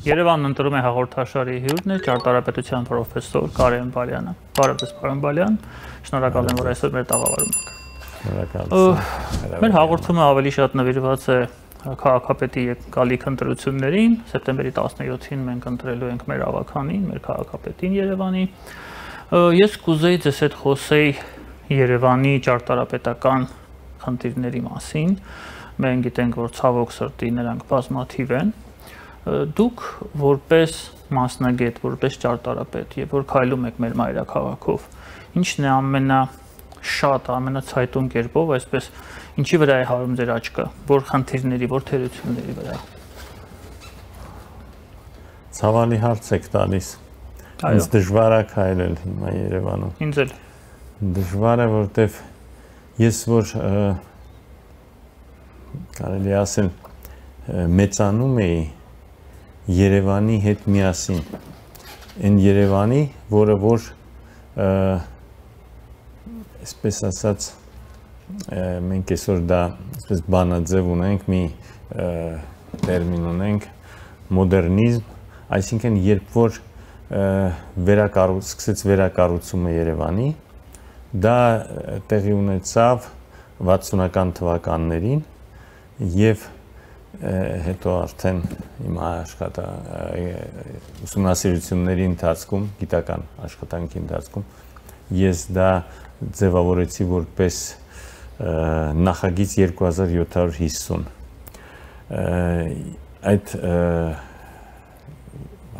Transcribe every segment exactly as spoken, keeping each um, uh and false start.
Երևանն ընտրում է հաղորդաշարի հյուրն է ճարտարապետության պրոֆեսոր Կարեն Բալյանը։ Բարև ձեզ, պարոն Բալյան, շնորհակալ եմ, որ այսօր մեր տաղավարում եք։ Շնորհակալ։ Մեր հաղորդումը ավելի շատ նվիրված է քաղաքապետի գալիք ընտրություններին, սեպտեմբերի տասնյոթին մենք ընտրելու ենք մեր ավականին, մեր քաղաքապետին Երևանի։ Ես կուզեի ձեզ հետ խոսեի Երևանի ճարտարապետական խնդիրների մասին։ Մենք գիտենք, որ ցավոք սրտի նրանք բազմաթիվ են։ Դուք որպես մասնագետ, որպես ճարտարապետ, եւ որ քայլում եք մեր մայրաքաղաքով, ինչն է ամենաշատ, ամենացայտուն կերպով, այսպես ինչի վրա է հարում ձեր աչքը, որ խնդիրների, որ թերությունների վրա։ Ցավալի հարց եք տալիս։ Ինձ դժվար է քայլել հիմա Երևանում։ Ինձ էլ։ Դժվար է, որտեվ ես որ կարելի ասել մեծանում էի Երևանի հետ միասին, այն Երևանի, որը որ այսպես ասած մենք այսօր դա այսպես բանաձև ունենք, մի տերմին ունենք, մոդեռնիզմ, այսինքն երբ որ վերակառուցում, սկսեց վերակառուցումը Երևանի, դա տեղի ունեցավ վաթսունական թվականներին եւ հետո արդեն իմ աշխատա ուսումնասիրությունների ընթացքում, գիտական աշխատանքի ընթացքում ես դա ձևավորեցի որպես նախագիծ երկու հազար յոթ հարյուր հիսուն։ Այդ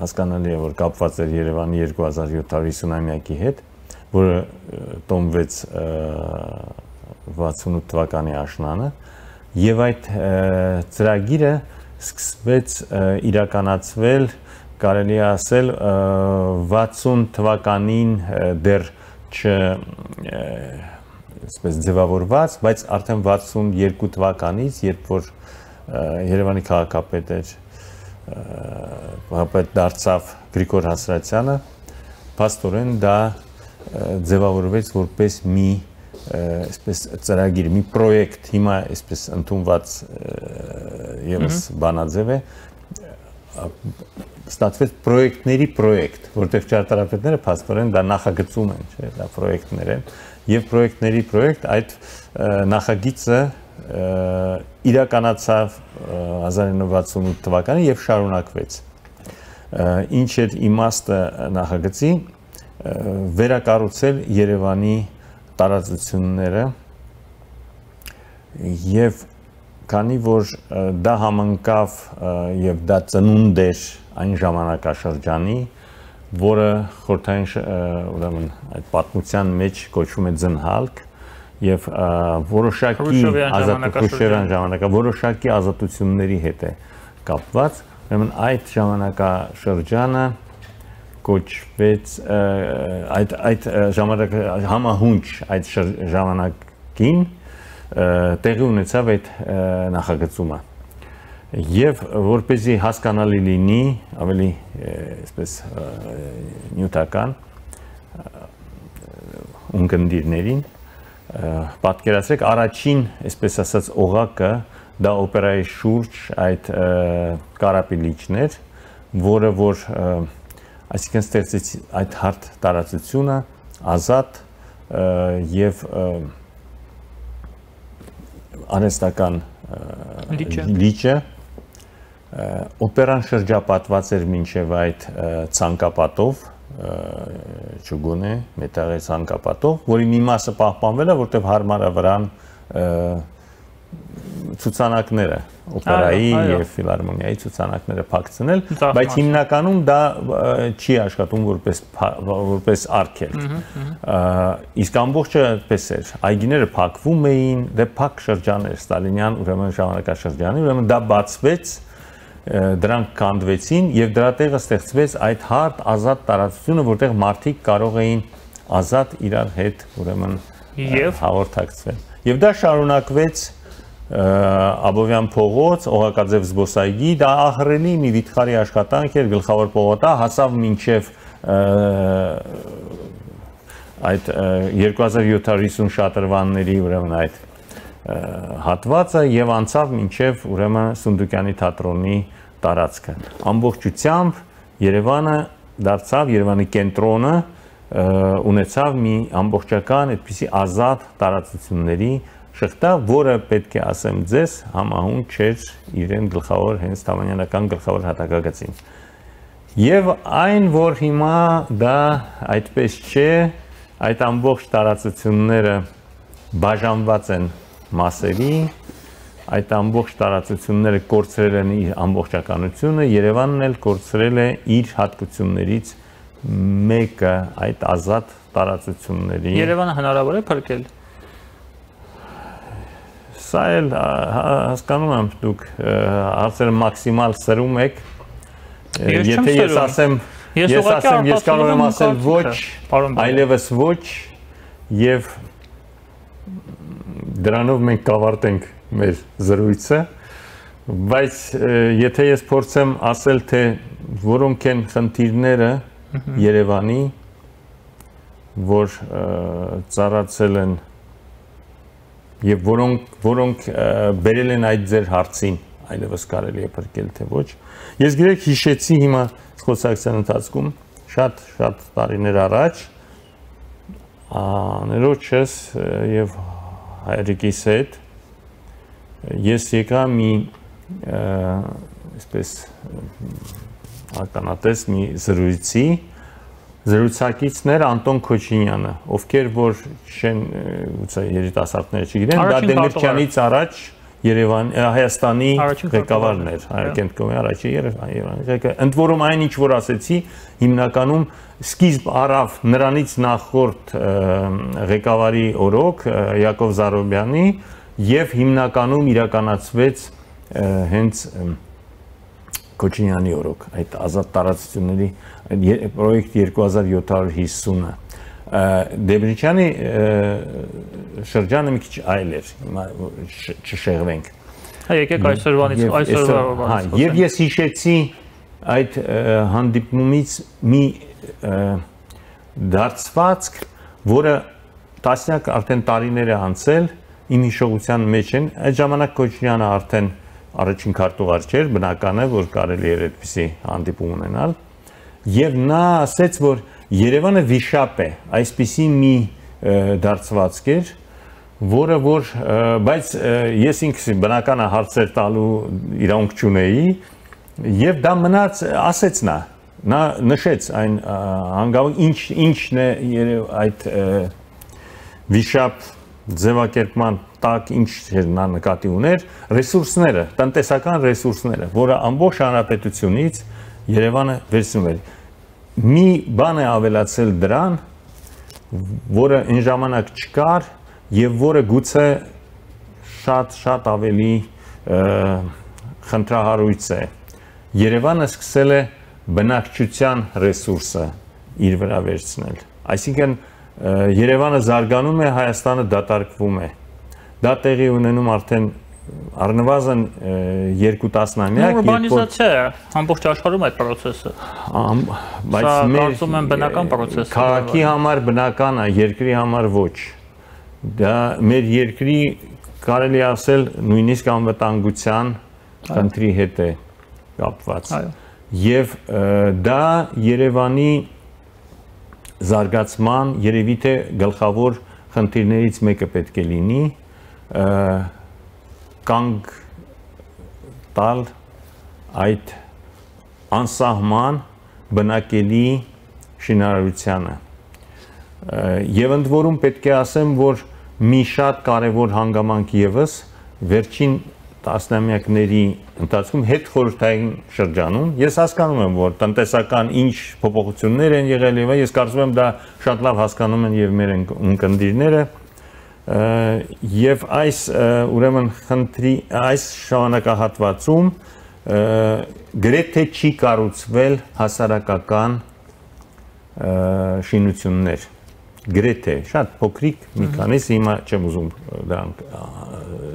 հասկանալի է, որ կապված էր Երևանի երկու հազար յոթ հարյուր հիսունամյակի հետ, որը տոմվեց վաթսունութ թվականի աշնանը, եւ այդ ծրագիրը սկսվեց իրականացվել, կարելի է ասել վաթսուն թվականին դեռ չ այսպես ձևավորված, բայց արդեն վաթսուն երկու թվականից, երբ որ Երևանի քաղաքապետ էր, քաղաքապետ դարձավ Գրիգոր Հասրատյանը, փաստորեն դա ձևավորվեց որպես մի այսպես ծրագիր, մի պրոյեկտ, հիմա այսպես ընդունված եւս բանաձև է, ստացվեց պրոյեկտների պրոյեկտ, որտեղ ճարտարապետները փաստորեն դա նախագծում են, չէ, դա պրոյեկտներ են, եւ պրոյեկտների պրոյեկտ այդ նախագիծը իրականացավ հազար ինը հարյուր վաթսունութ թվականին եւ շարունակվեց։ Ինչ էր իմաստը նախագծի, վերակառուցել Երևանի տարածությունները եւ քանի որ դա համընկավ եւ դա ծնունդ էր այն ժամանակաշրջանի, որը խորհրդային ուրեմն այդ պատմության մեջ կոչվում է ձնհալք եւ որոշակի ազատությունների ժամանակա որոշակի ազատությունների հետ է կապված, ուրեմն այդ ժամանակաշրջանը կոչվեց այդ այդ ժամանակ համահունչ այդ ժամանակին տեղի ունեցավ այդ նախագծումը եւ որպեսզի հասկանալի լինի ավելի այսպես նյութական ունկնդիրներին պատկերացրեք առաջին այսպես ասած օղակը դա օպերայի շուրջ այդ Կարապիլիչն էր, որը որ այսինքն ստեղծեց այդ հարթ տարածությունը ազատ եւ արհեստական լիճը օպերան շրջապատված էր մինչև այդ ցանկապատով ճուգոնե մետաղի ցանկապատով, որի մի մասը պահպանվել է, որտեղ հարմար է վրան ցուցանակները օպերայի եւ ֆիլհարմոնիայի ցուցանակները փակցնել, բայց հիմնականում դա չի աշխատում որպես որպես արգելք։ Իսկ ամբողջը այդպես էր, այգիները փակվում էին, դե փակ շրջան էր ստալինյան ուրեմն ժամանակաշրջանի, ուրեմն դա բացվեց, դրանք կանդվեցին եւ դրա տեղը ստեղծվեց այդ հարթ ազատ տարածությունը, որտեղ մարդիկ կարող էին ազատ իրար հետ ուրեմն հաղորդակցվել։ Եվ դա շարունակվեց Աբովյան փողոց, Օղակաձև զբոսայգի, դա ահռելի մի վիթխարի աշխատանք էր, գլխավոր փողոցը հասավ մինչև այդ երկու հազար յոթ հարյուր հիսուն շատրվանների ուրեմն այդ հատվածը եւ անցավ մինչև ուրեմն Սունդուկյանի թատրոնի տարածքը։ Ամբողջությամբ Երևանը դարձավ Երևանի կենտրոնը, ունեցավ մի ամբողջական այդպիսի ազատ տարածությունների շղթա, որը պետք է ասեմ ձեզ համահունչ չէր իրեն գլխավոր հենց Թամանյանական գլխավոր հատակագծին։ Եվ այն, որ հիմա դա այդպես չէ, այդ ամբողջ տարածությունները բաժանված են մասերի, այդ ամբողջ տարածությունները կորցրել են իր ամբողջականությունը, Երևանն էլ կորցրել է իր հատկություններից մեկը այդ ազատ տարածությունների։ Երևանը հնարավոր է փրկել։ Սա էլ հասկանում եմ դուք հարցերը մաքսիմալ սրում եք։ Եթե ես ասեմ, ես ասեմ, ես կարող եմ ասել ոչ, այլևս ոչ, եւ դրանով մենք կավարտենք մեր զրույցը, բայց եթե ես փորձեմ ասել, թե որոնք են խնդիրները Երևանի, որ ծառացել են եւ որոնք որոնք բերել են այդ ձեր հարցին, այլևս կարելի է փրկել թե ոչ։ Ես գրեք հիշեցի հիմա խոսակցության ընթացքում շատ շատ տարիներ առաջ ներոջս եւ հայրիկիս հետ ես եկա մի այսպես ականատես մի զրույցի զրուցակիցներ Անտոն Քոչինյանը, ովքեր որ չեն ուցե երիտասարդները չգիտեն, դա Դեմիրճյանից առաջ Երևան Հայաստանի ղեկավարն էր, Կենտկոմի առաջի Երևանի։ Ընդ որում այն ինչ որ ասեցի, հիմնականում սկիզբ առավ նրանից նախորդ ղեկավարի օրոք Յակով Զարոբյանի եւ հիմնականում իրականացվեց հենց Քոչինյանի օրոք այդ ազատ տարածությունների պրոյեկտ երկու հազար յոթ հարյուր հիսունը Դեմիրճյանի շրջանը մի քիչ այլ էր, հիմա չշեղվենք։ Հա եկեք այսօրվանից այսօրվանից։ Եվ ես հիշեցի այդ հանդիպումից մի դարձվածք, որը տասնյակ արդեն տարիներ է անցել, իմ հիշողության մեջ են, այդ ժամանակ Քոչինյանը արդեն առաջին քարտուղար չէր, բնական է, որ կարելի էր այդպիսի հանդիպում ունենալ, եւ նա ասեց, որ Երևանը վիշապ է, այսպիսի մի դարձվածք էր, որը որ, բայց ես ինքս բնական է հարցեր տալու իրավունք չունեի, եւ դա մնաց, ասեց նա, նա նշեց այն հանգամանք, ինչ ինչն է այդ վիշապ ձևակերպման տակ ինչ էր նա նկատի ուներ, ռեսուրսները, տնտեսական ռեսուրսները, որը ամբողջ հանրապետությունից Երևանը վերցնում էր։ Մի բան է ավելացել դրան, որը այն ժամանակ չկար եւ որը գուցե շատ շատ ավելի խնդրահարույց է։ Երևանը սկսել է բնակչության ռեսուրսը իր վրա վերցնել։ Այսինքն Երևանը զարգանում է, Հայաստանը դատարկվում է։ Դա տեղի ունենում արդեն առնվազն երկու տասնամյակ։ Ուրբանիզացիա է, ամբողջ աշխարհում այդ process-ը։ Բայց մեր կարծում եմ բնական process է։ Քաղաքի համար բնական է, երկրի համար ոչ։ Դա մեր երկրի կարելի ասել նույնիսկ անվտանգության խնդրի հետ է կապված։ Եվ դա Երևանի զարգացման երևի թե գլխավոր խնդիրներից մեկը պետք է լինի, կանգ տալ այդ անսահման բնակելի շինարարությանը։ Եվ ընդ որում պետք է ասեմ, որ մի շատ կարևոր հանգամանք ևս վերջին տասնամյակների ընթացքում հետ խորհրդային շրջանում, ես հասկանում եմ, որ տնտեսական ինչ փոփոխություններ են եղել եւ ես կարծում եմ դա շատ լավ հասկանում են եւ մեր ընկերները եւ այս ուրեմն խնդրի այս ժամանակահատվածում գրեթե չի կառուցվել հասարակական շինություններ, գրեթե շատ փոքրիկ մի քանիսը հիմա չեմ ուզում դրանք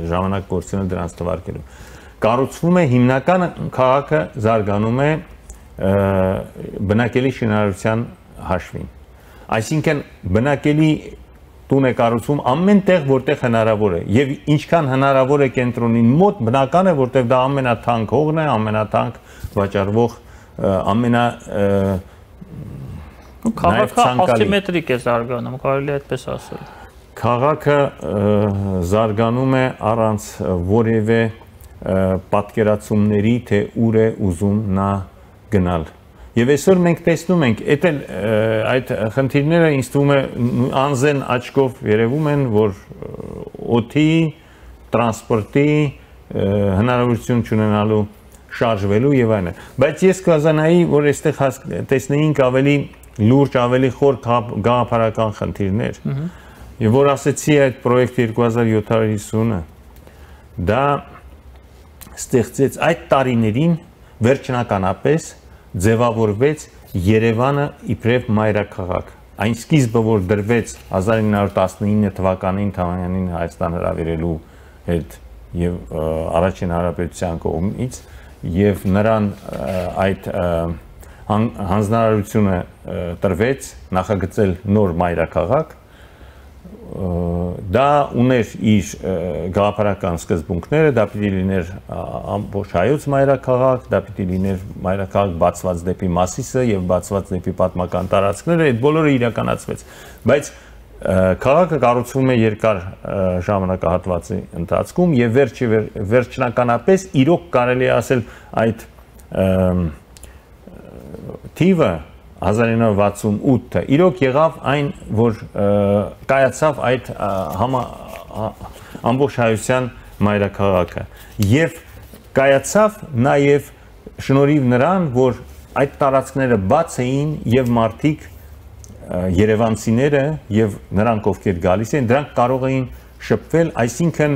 ժամանակ կորցնել դրանց թվարկելու։ Կառուցվում է հիմնական քաղաքը զարգանում է բնակելի շինարարության հաշվին։ Այսինքն բնակելի տուն է կառուցվում ամենտեղ, որտեղ հնարավոր է, եւ ինչքան հնարավոր է կենտրոնին մոտ, բնական է, որտեղ դա ամենաթանկ հողն է, ամենաթանկ վաճառվող, ամենա քաղաքը ասիմետրիկ է զարգանում, կարելի է այդպես ասել։ Քաղաքը զարգանում է առանց որևէ պատկերացումների, թե ուր է ուզում նա գնալ։ Եվ այսօր մենք տեսնում ենք, այդ խնդիրները ինձ թվում է անզեն աչքով երևում են, որ օդի, տրանսպորտի հնարավորություն չունենալու շարժվելու եւ այլն։ Բայց ես կազանայի, որ այստեղ տեսնեինք ավելի լուրջ, ավելի խոր գաղափարական խնդիրներ։ Եվ որ ասեցի այդ պրոյեկտ երկու հազար յոթ հարյուր հիսունը, դա ստեղծեց այդ տարիներին վերջնականապես ձևավորվեց Երևանը իբրև մայրաքաղաք։ Այն սկիզբը, որ դրվեց հազար ինը հարյուր տասնինը թվականին Թամանյանին Հայաստան հրավիրելու հետ եւ առաջին հանրապետության կողմից եւ նրան այդ հանձնարարությունը տրվեց նախագծել նոր մայրաքաղաք, դա ուներ իր գաղափարական սկզբունքները, դա պիտի լիներ ամբողջ հայոց մայրաքաղաք, դա պիտի լիներ մայրաքաղաք բացված դեպի Մասիսը եւ բացված դեպի պատմական տարածքները, այդ բոլորը իրականացվեց, բայց քաղաքը կառուցվում է երկար ժամանակահատվածի ընթացքում եւ վերջի վերջնականապես իրոք կարելի է ասել այդ թիվը հազար ինը հարյուր վաթսունութը իրոք եղավ այն, որ կայացավ այդ ամբողջ հայության մայրաքաղաքը եւ կայացավ նաեւ շնորհիվ նրան, որ այդ տարածքները բաց էին եւ մարդիկ երևանցիները եւ նրանք ովքեր գալիս են, դրանք կարող էին շփվել, այսինքն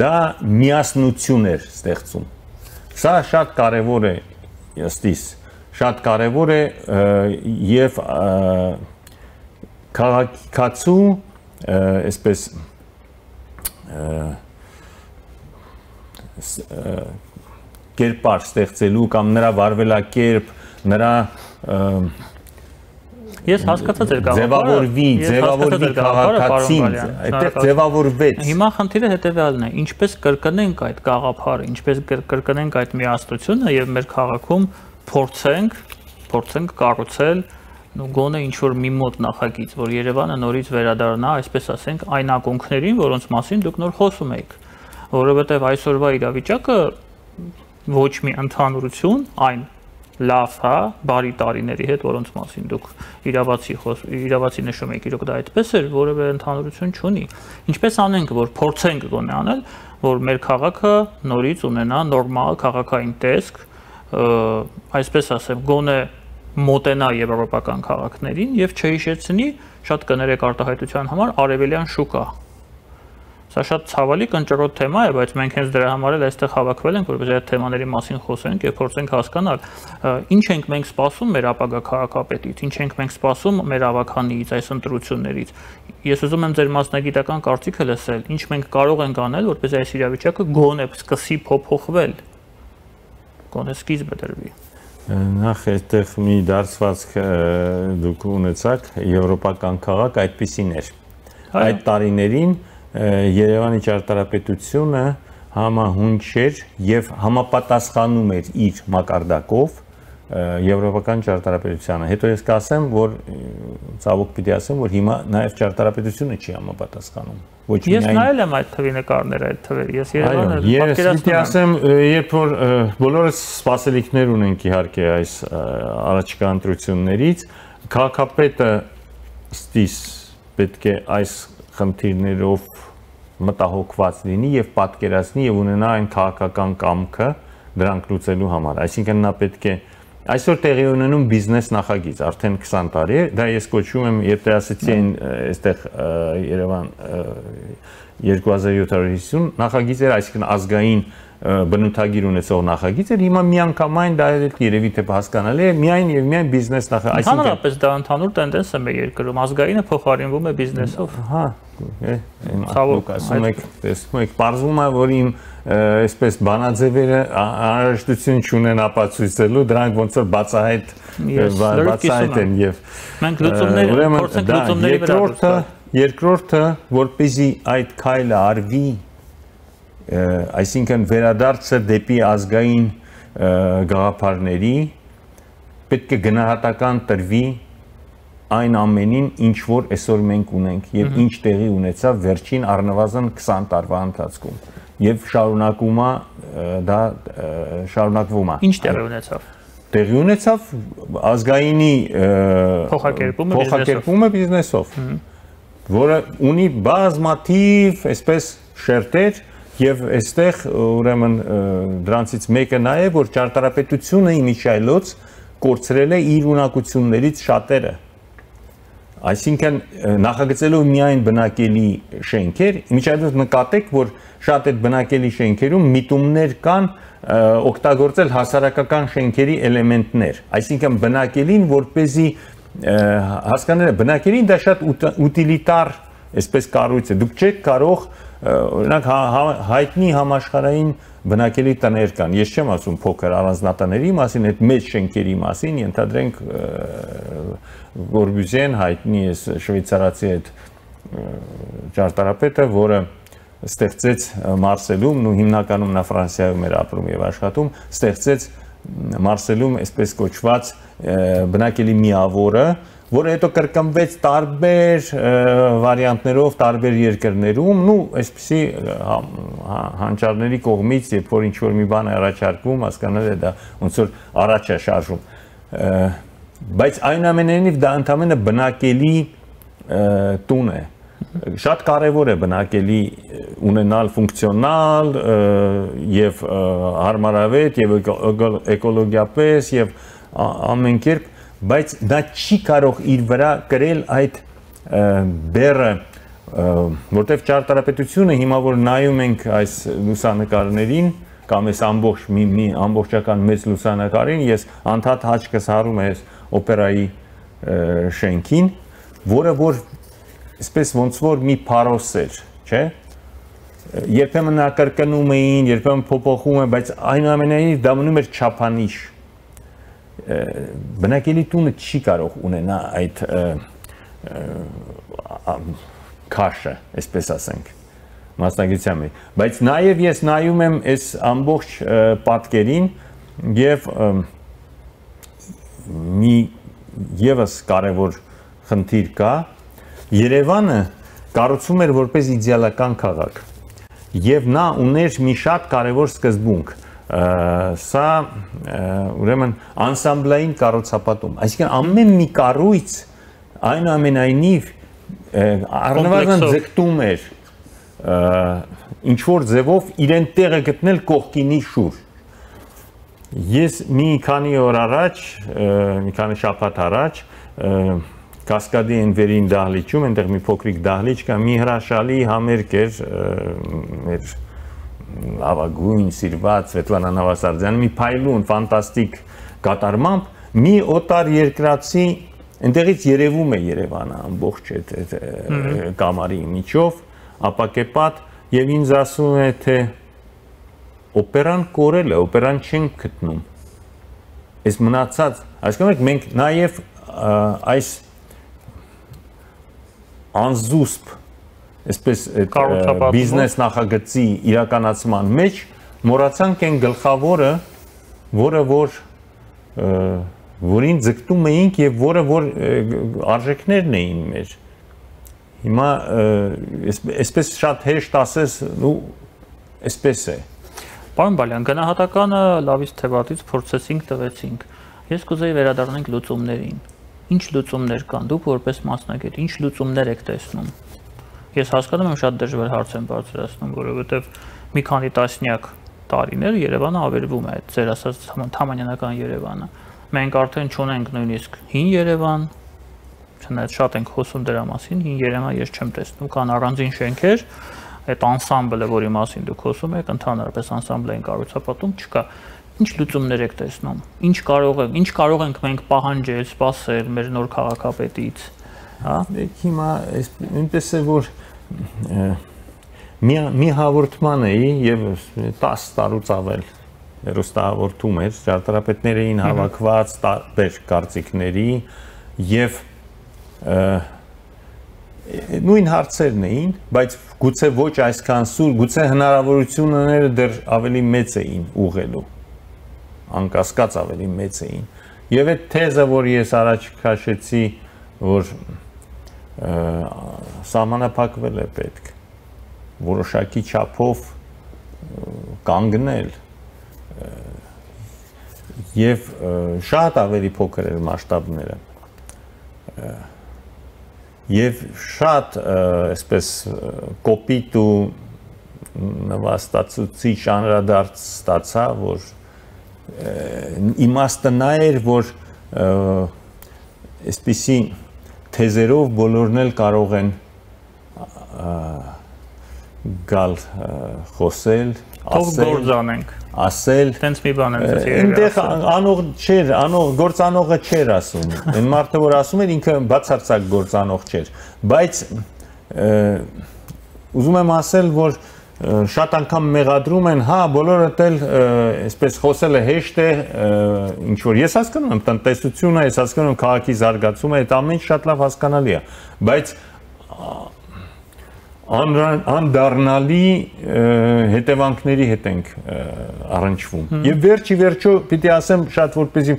դա միասնություն էր ստեղծում։ Սա շատ կարեւոր է ըստիս շատ կարևոր է եւ քաղաքացու այսպես կերպար ստեղծելու կամ նրա վարվելակերպ, նրա Ես հասկացած եմ գաղափարը, ձևավորվի, ձևավորվի քաղաքացին, այդտեղ ձևավորվեց։ Հիմա խնդիրը հետեւյալն է, ինչպես կրկնենք այդ գաղափարը, ինչպես կրկնենք այդ միասնությունը եւ մեր քաղաքում փորձենք, փորձենք կառուցել ու գոնե ինչ որ մի մոտ նախագիծ, որ Երևանը նորից վերադառնա, այսպես ասենք, այն ակունքներին, որոնց մասին դուք նոր խոսում եք, որովհետև այսօրվա իրավիճակը ոչ մի ընդհանուրություն, այն լավ, հա, բարի տարիների հետ, որոնց մասին դուք իրավացի իրավացի նշում եք, իրոք դա այդպես էր, որևէ ընդհանուրություն չունի։ Ինչպես անենք, որ փորձենք գոնե անել, որ մեր քաղաքը նորից ունենա նորմալ քաղաքային տեսք, այսպես ասեմ, գոնե մոտենա եվրոպական քաղաքներին եւ չհիշեցնի, շատ կներեք արտահայտության համար արևելյան շուկա։ Սա շատ ցավալի կնճռոտ թեմա է, բայց մենք հենց դրա համար էլ այստեղ հավաքվել ենք, որպեսզի այդ թեմաների մասին խոսենք եւ փորձենք հասկանալ, ինչ ենք մենք սպասում մեր ապագա քաղաքապետից, ինչ ենք մենք սպասում մեր ավականիից, այս ընտրություններից։ Ես ուզում եմ ձեր մասնագիտական կարծիքը լսել, ինչ մենք կարող ենք անել, որպեսզի այս իրավիճակը գոնե սկսի փոփոխվել։ Գոնե սկիզբը դրվի։ Նախ այդտեղ մի դարձվածք դուք ունեցաք, եվրոպական քաղաք այդպիսին էր։ Այդ տարիներին Երևանի ճարտարապետությունը համահունչ էր եւ համապատասխանում էր իր մակարդակով եվրոպական ճարտարապետությանը։ Հետո ես կասեմ, որ ցավոք պիտի ասեմ, որ հիմա նաեւ ճարտարապետությունը չի համապատասխանում։ Ոչ միայն Ես նայել եմ այդ թվի նկարները, այդ թվերը։ Ես Երևանը պատկերացնում եմ։ Ես ասեմ, երբ որ բոլորս սպասելիքներ ունենք իհարկե այս առաջիկա ընտրություններից, քաղաքապետը ստիս պետք է այս խնդիրներով մտահոգված լինի եւ պատկերացնի եւ ունենա այն քաղաքական կամքը դրանք լուծելու համար։ Այսինքն նա պետք է այսօր տեղի ունենում բիզնես նախագիծ, արդեն քսան տարի է, դա ես կոչում եմ, երբ ասեցի այն այստեղ Երևան երկու հազար յոթ հարյուր հիսուն նախագիծ էր, այսինքն ազգային բնութագիր ունեցող նախագիծ էր, հիմա միանգամայն դա երևի թե հասկանալի է, միայն եւ միայն բիզնես նախագիծ, այսինքն ընդհանրապես դա ընդհանուր տենդենս է մեր երկրում, ազգայինը փոխարինվում է բիզնեսով։ Հա, ցավոք ասում եք, տեսնում եք, բարձվում է, որ իմ այսպես բանաձևերը անհրաժեշտություն չունեն ապացույցելու, դրանք ոնց որ բացահայտ բացահայտ են եւ մենք լուծումներ փորձենք լուծումների վրա։ երկրորդը, որպեսզի այդ քայլը արվի, այսինքն վերադարձը դեպի ազգային գաղափարների, պետք է գնահատական տրվի այն ամենին, ինչ որ այսօր մենք ունենք եւ ինչ տեղի ունեցավ վերջին առնվազն քսան տարվա ընթացքում եւ շարունակում է դա շարունակվում է։ Ինչ տեղի ունեցավ։ Տեղի ունեցավ ազգայինի փոխակերպումը փոխակերպումը բիզնեսով, որը ունի բազմաթիվ այսպես շերտեր եւ այստեղ ուրեմն դրանցից մեկը նա է, որ ճարտարապետությունը իմիջայլոց կորցրել է իր ունակություններից շատերը։ Այսինքն նախագծելով միայն բնակելի շենքեր, իմիջայլոց նկատեք, որ շատ այդ բնակելի շենքերում միտումներ կան օգտագործել հասարակական շենքերի էլեմենտներ, այսինքն բնակելին որպեսզի հասկանալը բնակելին դա շատ ուտիլիտար այսպես կառույց է, դուք չեք կարող օրինակ հայտնի համաշխարհային բնակելի տներ կան, ես չեմ ասում փոքր առանձնատների մասին, այդ մեծ շենքերի մասին, ենթադրենք Կորբյուզիեն հայտնի է շվեյցարացի այդ ճարտարապետը, որը ստեղծեց Մարսելում, ու հիմնականում նա Ֆրանսիայում էր ապրում եւ աշխատում, ստեղծեց Մարսելում այսպես կոչված բնակելի միավորը, որը հետո կրկնվեց տարբեր վարիանտներով տարբեր երկրներում, ու այսպիսի հանճարների կողմից, երբ որ ինչ որ մի բան է առաջարկվում, հասկանալ է դա ոնց որ առաջ է շարժում։ Բայց այնուամենայնիվ դա ընդհանրապես բնակելի տուն է։ Շատ կարևոր է բնակելի ունենալ ֆունկցիոնալ եւ հարմարավետ եւ էկոլոգիապես եւ ամեն կերպ, բայց դա չի կարող իր վրա կրել այդ բեռը, որտեղ ճարտարապետությունը հիմա որ նայում ենք այս լուսանկարներին կամ այս ամբողջ մի, մի ամբողջական մեծ լուսանկարին, ես անդադ հաճկս հարում եմ օպերայի շենքին, որը որ այսպես ոնց որ մի փարոս էր, չէ՞։ Երբեմն նա կրկնում էին, երբեմն փոփոխում են, բայց այնուամենայնիվ դա մնում էր չափանիշ։ Բնակելի տունը չի կարող ունենա այդ քաշը, այսպես ասենք, մասնագիտության մեջ, բայց նաև ես նայում եմ այս ամբողջ պատկերին եւ մի եւս կարևոր խնդիր կա, Երևանը կառուցվում էր որպես իդեալական քաղաք եւ նա ուներ մի շատ կարևոր սկզբունք, սա ուրեմն անսամբլային կառուցապատում, այսինքն ամեն մի կառույց այնուամենայնիվ առնվազն ձգտում էր ինչ որ ձևով իրեն տեղը գտնել կողքինի շուրջ։ Ես մի քանի օր առաջ, մի քանի շաբաթ առաջ Կասկադի Էնվերին դահլիճում, այնտեղ մի փոքրիկ դահլիճ կա, մի հրաշալի համերգ էր մեր ավագույն սիրված Սվետլանա Նավասարդյանի մի փայլուն ֆանտաստիկ կատարմամբ մի օտար երկրացի այնտեղից երևում է Երևանը ամբողջ այդ կամարի միջով, ապակեպատ եւ ինձ ասում է թե օպերան կորել է, օպերան չենք գտնում։ Այս մնացած, հասկանում մենք նաեւ այս անզուսպ այսպես բիզնես նախագծի իրականացման մեջ մոռացանք այն գլխավորը, որը որ որին ձգտում էինք եւ որը որ արժեքներն էին մեր։ Հիմա այսպես շատ հեշտ ասես, ու այսպես է։ Պարոն Բալյան, գնահատականը լավից թե վատից փորձեցինք, տվեցինք։ Ես կուզեի վերադառնանք լուծումներին։ Ինչ լուծումներ կան, դուք որպես մասնագետ, ինչ լուծումներ եք տեսնում։ Ես հասկանում եմ շատ դժվար հարց եմ բարձրացնում, որովհետև մի քանի տասնյակ տարիներ Երևանը ավերվում է, ձեր ասած թամանյանական Երևանը։ Մենք արդեն չունենք նույնիսկ հին Երևան, չնայած շատ ենք խոսում դրա մասին, հին Երևան ես չեմ տեսնում, կան առանձին շենքեր, այդ անսամբլը, որի մասին դուք խոսում եք, ընդհանրապես անսամբլային կառուցապատում չկա։ Ինչ լուծումներ եք տեսնում, ինչ կարող ենք, ինչ կարող ենք մենք պահանջել, սպասել մեր նոր քաղաքապետից, հա։ Հիմա այնպես է որ մի մի հաղորդման էի եւ տասը տարուց ավել հեռուստահաղորդում էր, ճարտարապետներ էին հավաքված տարբեր կարծիքների եւ նույն հարցերն էին, բայց գուցե ոչ այսքան սուր, գուցե հնարավորությունները դեռ ավելի մեծ էին ուղղելու, անկասկած ավելի մեծ էին։ Եվ այդ թեզը, որ ես առաջ քաշեցի, որ սահմանափակվել է պետք, որոշակի չափով կանգնել եւ շատ ավելի փոքր էր մասշտաբները եւ շատ այսպես կոպիտ ու նվաստացուցիչ անդրադարձ ստացա, որ իմաստը նա էր, որ այսպիսի թեզերով բոլորն էլ կարող են գալ խոսել, ասել, ասել, տենց մի բան եմ ասել։ Այնտեղ անող չէր, անող գործանողը չէր ասում։ Այն մարդը, որ ասում էր, ինքը բացարձակ գործանող չէր, բայց ուզում եմ ասել, որ շատ անգամ մեղադրում են, հա, բոլորը էլ այսպես խոսելը հեշտ է, ինչ որ ես հասկանում եմ տնտեսությունը, ես հասկանում եմ քաղաքի զարգացումը, այդ ամեն ինչ շատ լավ հասկանալի է, բայց անդառնալի հետևանքների հետ ենք առնչվում։ Եվ վերջի վերջո պիտի ասեմ շատ որպեսզի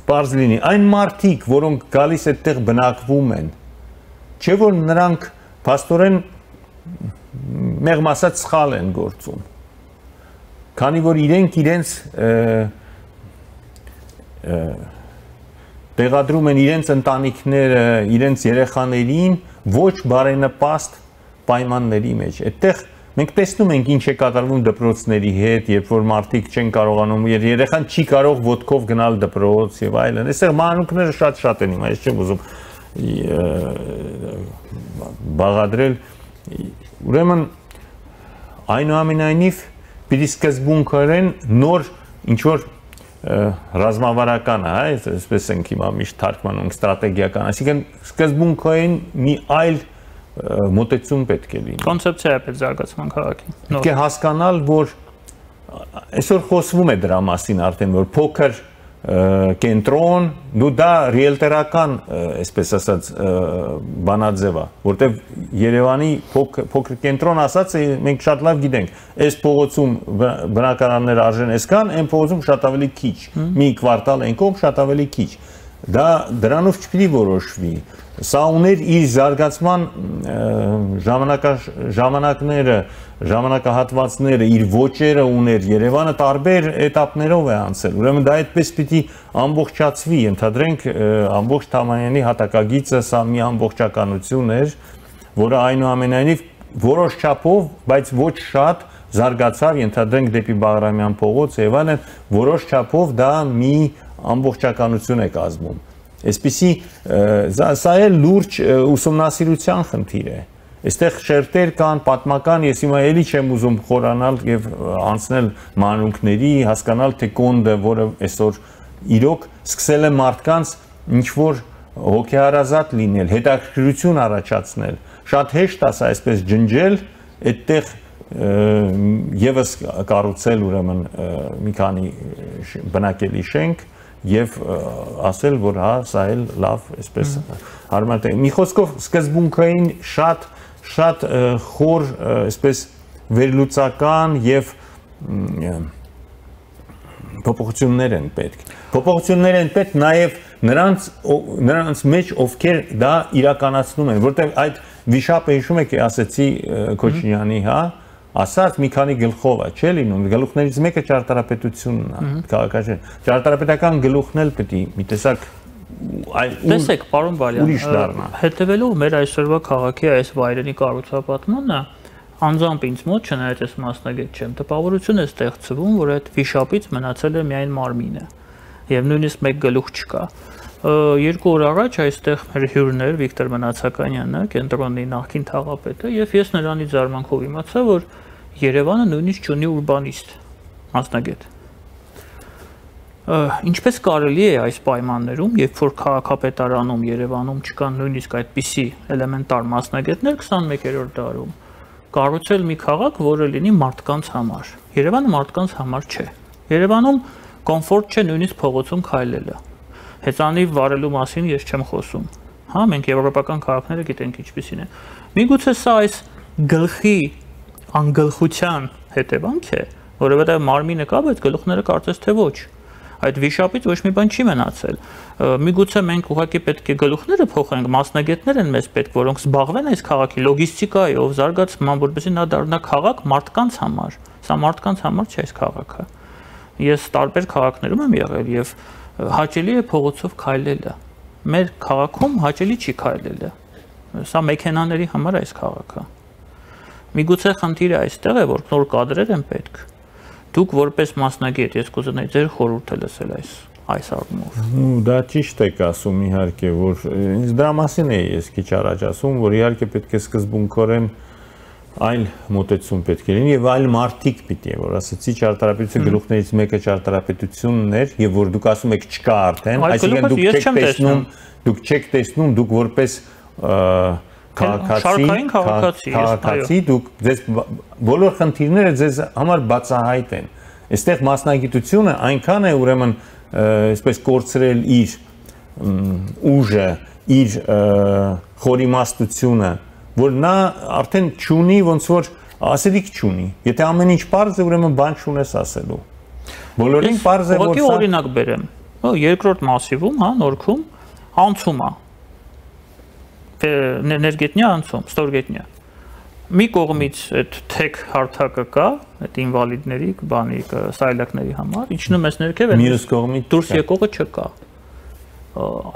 պարզ լինի, այն մարդիկ, որոնք գալիս այդտեղ բնակվում են, չէ որ նրանք փաստորեն մեղմ ասած սխալ են գործում, քանի որ իրենք իրենց տեղադրում են իրենց ընտանիքները, իրենց երեխաներին ոչ բարենպաստ պայմանների մեջ։ Այդտեղ մենք տեսնում ենք ինչ է կատարվում դպրոցների հետ, երբ որ մարդիկ չեն կարողանում, երեխան չի կարող ոտքով գնալ դպրոց եւ այլն։ Այստեղ մանրուքները շատ-շատ են հիմա, ես չեմ ուզում բաղադրել։ Ուրեմն այնուամենայնիվ պիտի սկզբունքորեն նոր ինչ որ ռազմավարական, հա, այսպես ենք հիմա միշտ թարգմանում ստրատեգիական, այսինքն սկզբունքորեն մի այլ մոտեցում պետք է լինի։ Կոնցեպցիա է պետք զարգացման քաղաքի։ Պետք է հասկանալ, որ այսօր խոսվում է դրա մասին արդեն, որ փոքր կենտրոն, դու դա ռիելտորական, այսպես ասած, բանաձև է, որտեղ Երևանի փոքր կենտրոն ասած մենք շատ լավ գիտենք, այս փողոցում բնակարաններ արժեն այսքան, այն փողոցում շատ ավելի քիչ, մի կվարտալ այն կողմ շատ ավելի քիչ։ Դա դրանով չպիտի որոշվի։ Սա ուներ իր զարգացման ժամանակները, ժամանակահատվածները, իր ոճերը ուներ, Երևանը տարբեր էտապներով է անցել, ուրեմն դա այդպես պիտի ամբողջացվի, ենթադրենք ամբողջ Թամանյանի հատակագիծը սա մի ամբողջականություն էր, որը այնուամենայնիվ որոշ չափով, բայց ոչ շատ զարգացավ, ենթադրենք դեպի Բաղրամյան փողոց եւ այլն, որոշ չափով դա մի ամբողջականություն է կազմում։ Այսպիսի սա է լուրջ ուսումնասիրության խնդիր է։ Այստեղ շերտեր կան, պատմական, ես հիմա էլի չեմ ուզում խորանալ եւ անցնել մանրուքների, հասկանալ թե կոնդը, որը այսօր իրոք սկսել է մարդկանց ինչ որ հոգեհարազատ լինել, հետաքրքրություն առաջացնել։ Շատ հեշտ է սա այսպես ջնջել, այդտեղ եւս կառուցել ուրեմն մի քանի բնակելի շենք եւ ասել, որ հա, սա էլ լավ, այսպես հարմար է։ Մի խոսքով սկզբունքային շատ շատ խոր, այսպես վերլուծական եւ փոփոխություններ են պետք։ Փոփոխություններ են պետք նաեւ նրանց նրանց մեջ, ովքեր դա իրականացնում են, որտեղ այդ վիշապը հիշում եք, ասեցի Քոչինյանի, հա, ասած մի քանի գլխով է, չէ՞ լինում, գլուխներից մեկը ճարտարապետությունն է, քաղաքաշեն։ Ճարտարապետական գլուխն էլ պետք է մի տեսակ Տեսեք, պարոն Բալյան, հետևելով մեր այսօրվա քաղաքի այս վայրենի կառուցապատմանը, անձամբ ինձ մոտ, չնայած ես մասնագետ չեմ, տպավորություն է ստեղծվում, որ այդ վիշապից մնացել է միայն մարմինը, եւ նույնիսկ մեկ գլուխ չկա։ Երկու օր առաջ այստեղ մեր հյուրն էր Վիկտոր Մնացականյանը, կենտրոնի նախկին թաղապետը, եւ ես նրանից զարմանքով իմացա, որ Երևանը նույնիսկ չունի ուրբանիստ, մասնագետ։ Ինչպես կարելի է այս պայմաններում, երբ որ քաղաքապետարանում Երևանում չկան նույնիսկ այդպիսի էլեմենտար մասնագետներ քսանմեկերորդ դարում, կառուցել մի քաղաք, որը լինի մարդկանց համար։ Երևանը մարդկանց համար չէ։ Երևանում կոմֆորտ չէ նույնիսկ փողոցում քայլելը։ Հեծանիվ վարելու մասին ես չեմ խոսում։ հա, մենք եվրոպական քաղաքները գիտենք ինչպիսին է։ Միգուցե սա այս գլխի անգլխության հետևանք է, որովհետև մարմինը կա, բայց գլուխները կարծես թե ոչ։ Այդ վիշապից ոչ մի բան չի մնացել։ Միգուցե մենք ուղղակի պետք է գլուխները փոխենք, մասնագետներ են մեզ պետք, որոնք զբաղվեն այս քաղաքի լոգիստիկայով, զարգացման, որպեսզի նա դառնա քաղաք մարդկանց համար։ Սա մարդկանց համար չէ այս քաղաքը։ Ես տարբեր քաղաքներում եմ եղել եւ հաճելի է փողոցով քայլելը։ Մեր քաղաքում հաճելի չի քայլելը։ Սա մեքենաների համար է այս քաղաքը։ Միգուցե խնդիրը այստեղ է, որ նոր կադրեր են պետք։ Դուք որպես մասնագետ, ես կուզենայի ձեր խորհուրդը լսել այս այս առումով։ Դա ճիշտ եք ասում, իհարկե, որ ինձ դրա մասին է ես քիչ առաջ ասում, որ իհարկե պետք է սկզբունքորեն այլ մոտեցում պետք է լինի եւ այլ մարտիկ պիտի է, որ ասացի ճարտարապետության գլուխներից մեկը ճարտարապետությունն էր եւ որ դուք ասում եք չկա արդեն, այսինքն դուք չեք տեսնում, դուք չեք տեսնում, դուք որպես քաղաքացի, քաղաքացի դուք ձեզ բոլոր խնդիրները ձեզ համար բացահայտ են։ Այստեղ մասնագիտությունը այնքան է ուրեմն այսպես կորցրել իր ուժը, իր խորիմաստությունը, որ նա արդեն չունի ոնց որ ասելիք չունի։ Եթե ամեն ինչ պարզ է, ուրեմն բան չունես ասելու։ Բոլորին պարզ է, որ սա օրինակ բերեմ։ Երկրորդ մասիվում, հա, Նորքում անցում է։ Ներգետնյա անցում, ստորգետնյա։ Մի կողմից այդ թեք հարթակը կա, այդ ինվալիդների, բանի, սայլակների համար, իջնում ես ներքև, մյուս կողմից դուրս եկողը չկա։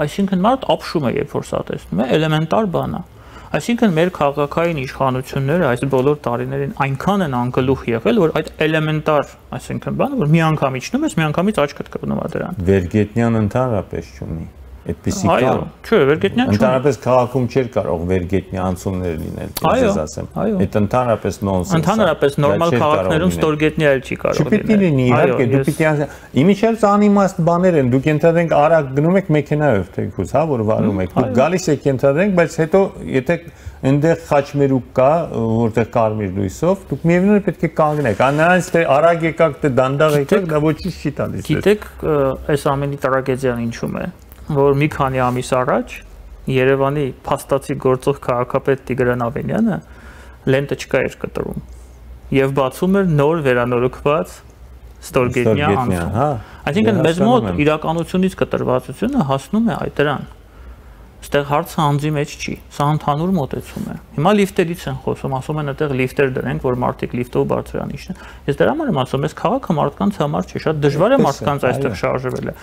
Այսինքն մարդ ապշում է, երբ որ սա տեսնում է, էլեմենտար բան է։ Այսինքն մեր քաղաքային իշխանությունները այս բոլոր տարիներին այնքան են անգլուխ եղել, որ այդ էլեմենտար, այսինքն բանը, որ մի անգամ իջնում ես, մի անգամից աչքդ կպնում է դրան։ Վերգետնյան ընդհանրապես չունի։ Այդպեսի կա։ Այո, չէ, վերգետնյա չունի։ Ընդհանրապես քաղաքում չէր կարող վերգետնյա անցումներ լինել, ես ասեմ։ Այդ ընդհանրապես նոնսենս է։ Ընդհանրապես նորմալ քաղաքներում ստորգետնյա էլ չի կարող լինել։ Չպետք է լինի, իհարկե, դու պիտի իմիջիայլս անիմաստ բաներ են, դուք ենթադրենք արագ գնում եք մեքենայով թեկուզ, հա, որ վարում եք։ Դուք գալիս եք ենթադրենք, բայց հետո եթե այնտեղ խաչմերուկ կա, որտեղ կարմիր լույսով, դուք միևնույն է պետք է կանգնեք։ Նրանից թե արագ եկաք, թե դանդաղ եկաք, դա ոչինչ չի տալիս։ Գիտեք, այս ամենի տրագեդիան ինչու՞մ է, որ մի քանի ամիս առաջ Երևանի փաստացի գործող քաղաքապետ Տիգրան Ավենյանը լենտը չկա էր կտրում եւ բացում էր նոր վերանորոգված ստորգետնյա անցում։ Այսինքն մեզ մոտ իրականությունից կտրվածությունը հասնում է այդ դրան։ Այստեղ հարցը անձի մեջ չի, սա ընդհանուր մոտեցում է։ Հիմա լիֆտերից են խոսում, ասում են այդտեղ լիֆտեր դրենք, որ մարդիկ լիֆտով բարձրանան իջնեն։ Ես դրա համար եմ ասում, այս քաղաքը մարդկանց համար չէ, շատ դժվար է մարդկանց այստեղ շարժվելը։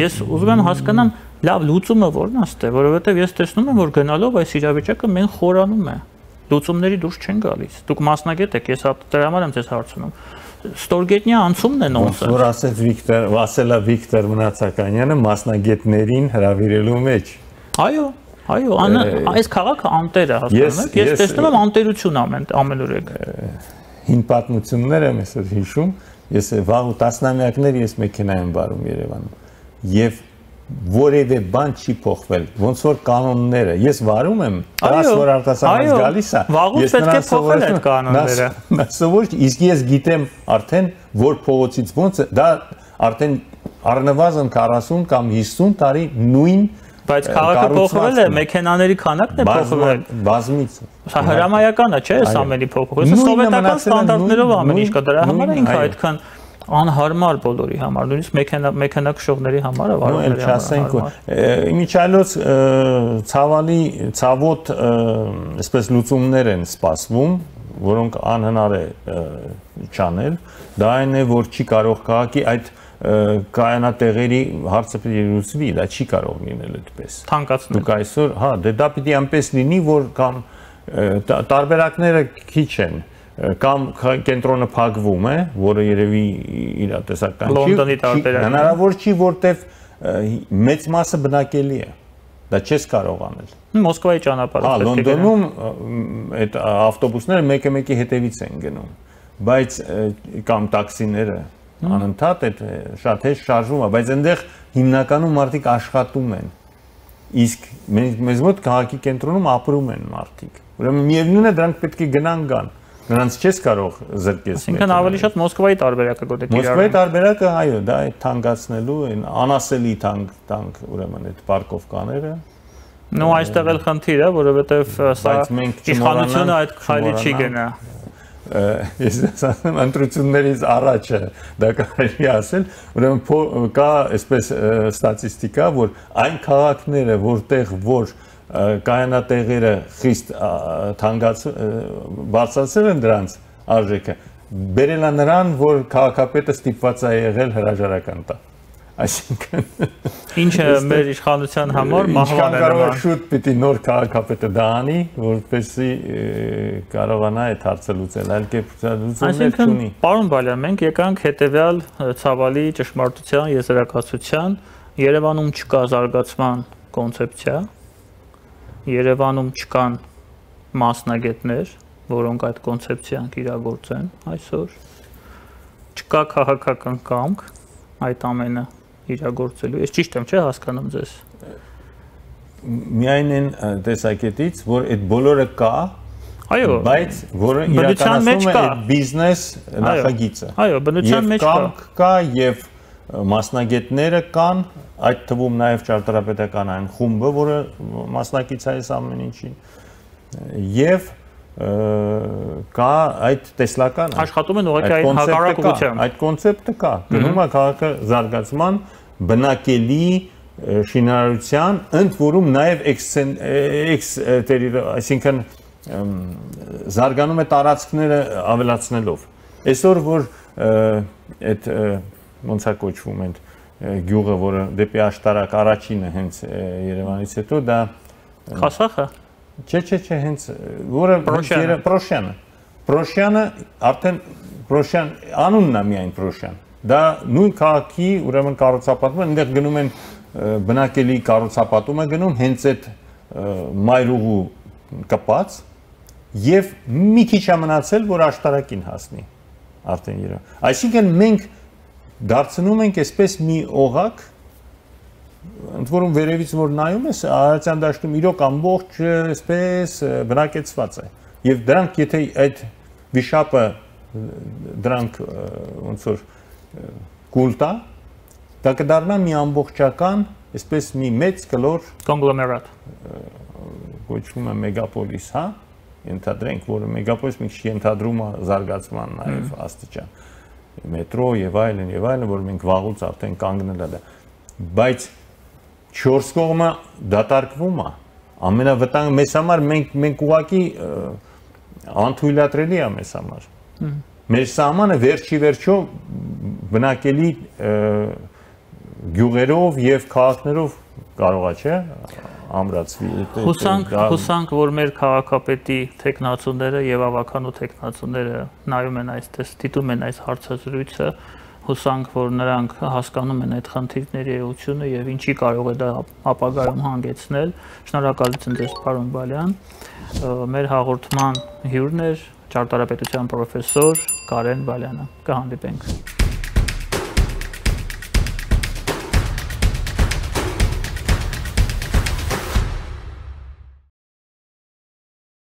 Ես ուզում եմ հասկանամ, լավ, լուծումը ո՞րն է ստե, որովհետև ես տեսնում եմ, որ գնալով այս իրավիճակը մեն խորանում է։ Լուծումների դուրս չեն գալիս։ Դուք մասնագետ եք, ես դրա համար եմ ձեզ հարցնում։ Ստորգետնյա անցումն է նոնսենս։ Որ ասեց Վիկտոր, ասելա Վիկտոր Մնացականյանը մասնագետներին հրավիրելու մեջ։ Այո, այո, այս քաղաքը անտեր է, հասկանում եք, ես տեսնում եմ անտերություն ամեն ամենուրեք։ Հին պատմություններ եմ այսօր հիշում, ես վաղ տասնամյակներ ես մեքենա եմ վարում Երևանում եւ որևէ բան չի փոխվել, ոնց որ կանոնները, ես վարում եմ, դրաս որ արտասահմանից գալիս է, ես պետք է փոխել այդ կանոնները։ Նա սովոր, իսկ ես գիտեմ արդեն որ փողոցից ոնց է, դա արդեն առնվազն քառասուն կամ հիսուն տարի նույն բայց քաղաքը փոխվել է, մեքենաների քանակն է փոխվել։ Բազմից։ Սա հրամայական է, չէ՞, այս ամենի փոփոխությունը։ Սովետական ստանդարտներով ամեն ինչ կա, դրա համար ինքը այդքան անհարմար բոլորի համար, նույնիսկ մեքենա մեքենա քշողների համար, վարորդների համար։ Իմիջիայլոց ցավալի, ցավոտ, այսպես լուծումներ են սպասվում, որոնք անհնար է չանել։ Դա այն է, որ չի կարող քաղաքի այդ կայանատեղերի հարցը պետք է լուծվի, դա չի կարող լինել այդպես։ Թանկացնել։ Դուք այսօր, հա, դե դա պիտի այնպես լինի, որ կամ տարբերակները քիչ են, կամ կենտրոնը փակվում է, որը երևի իր տեսական չի։ Լոնդոնի տարբերակը։ Հնարավոր չի, որտեվ մեծ մասը բնակելի է։ Դա չես կարող անել։ Մոսկվայի ճանապարհով։ Հա, Լոնդոնում այդ ավտոբուսները մեկը-մեկի հետևից են գնում, բայց կամ տաքսիները անընդհատ այդ շատ հեշտ շարժվում է, բայց այնտեղ հիմնականում մարդիկ աշխատում են։ Իսկ մեզ մոտ քաղաքի կենտրոնում ապրում են մարդիկ։ Ուրեմն միևնույն է դրանք պետք է գնան գան։ Նրանց չես կարող զրկես։ Այսինքն ավելի շատ Մոսկվայի տարբերակը գոտեք իրար։ Մոսկվայի տարբերակը, այո, դա է թանկացնելու, այն անասելի թանկ, թանկ, ուրեմն այդ պարկովկաները, Նո այստեղ էլ խնդիր է, որովհետև սա իշխանությունը այդ քայլի չի գնա։ Ես ասեմ ընտրություններից առաջ դա կարելի ասել, ուրեմն կա այսպես ստատիստիկա, որ այն քաղաքները, որտեղ որ կայանատեղերը խիստ բարձրացել են դրանց արժեքը, բերել է նրան, որ քաղաքապետը ստիպված է եղել հրաժարական տա։ Այսինքն ինչը մեր իշխանության համար մահվան է նման։ Շուտ պիտի նոր քաղաքապետը դա անի, որպեսզի կարողանա այդ հարցը լուծել, այլ կերպ լուծումներ չունի։ Պարոն Բալյան, մենք եկանք հետևյալ ցավալի ճշմարտության եզրակացության, Երևանում չկա զարգացման կոնցեպցիա, Երևանում չկան մասնագետներ, որոնք այդ կոնցեպցիան կիրագործեն այսօր, չկա քաղաքական կամք այդ ամենը իրագործելու։ Ես ճիշտ եմ, չէ՞ հասկանում ձեզ։ Միայն այն տեսակետից, որ այդ բոլորը կա, այո, բայց որը իրականացնում է այդ բիզնես նախագիծը։ Այո, բնության մեջ կա։ Կամք կա եւ մասնագետները կան, այդ թվում նաեւ ճարտարապետական այն խումբը, որը մասնակից է այս ամեն ինչին։ Եվ կա այդ տեսլական աշխատում են ուղղակի այդ հակառակ ուղղությամբ։ Այդ կոնցեպտը կա։ Գնում է քաղաքը զարգացման, բնակելի շինարարության, ընդ որում նաև էքստերիոր, այսինքն զարգանում է տարածքները ավելացնելով։ Այսօր որ այդ ոնց է կոչվում այդ գյուղը, որը դեպի աշտարակ առաջինը հենց Երևանից հետո դա Խասախը։ Չէ, չէ, չէ, հենց որը Պրոշյանը։ Պրոշյանը արդեն Պրոշյան անունն է միայն Պրոշյան։ Դա նույն քաղաքի ուրեմն կառուցապատումը, այնտեղ գնում են բնակելի կառուցապատումը գնում հենց այդ մայրուղու կպած եւ մի քիչ է մնացել, որ աշտարակին հասնի արդեն Երևան։ Այսինքն մենք դարձնում ենք այսպես մի օղակ, ընդ որում վերևից որ նայում ես, Արարատյան դաշտում իրոք ամբողջ այսպես բնակեցված է։ Եվ դրանք եթե այդ վիշապը դրանք ոնց որ կուլ տա, դա կդառնա մի ամբողջական, այսպես մի մեծ կլոր կոնգլոմերատ։ Կոչվում է մեգապոլիս, հա, ենթադրենք, որը մեգապոլիս մի քիչ ենթադրում է զարգացման նաև աստիճան, մետրո եւ այլն եւ այլն, որ մենք վաղուց արդեն կանգնել է դա, բայց չորս կողմը դատարկվում է, ամենավտանգ մեզ համար մենք մենք ուղղակի անթույլատրելի է մեզ համար։ Մեր սահմանը վերջի վերջո բնակելի գյուղերով եւ քաղաքներով կարող է, չէ՞, ամրացվի։ Հուսանք, հուսանք, որ մեր քաղաքապետի տեխնացուները եւ ավականու տեխնացուները նայում են այստեղ, դիտում են այս հարցազրույցը, հուսանք, որ նրանք հասկանում են այդ խնդիրների էությունը եւ ինչի կարող է դա ապագայում հանգեցնել։ Շնորհակալություն ձեզ, պարոն Բալյան։ Մեր հաղորդման հյուրն էր ճարտարապետության պրոֆեսոր Կարեն Բալյանը։ Կհանդիպենք։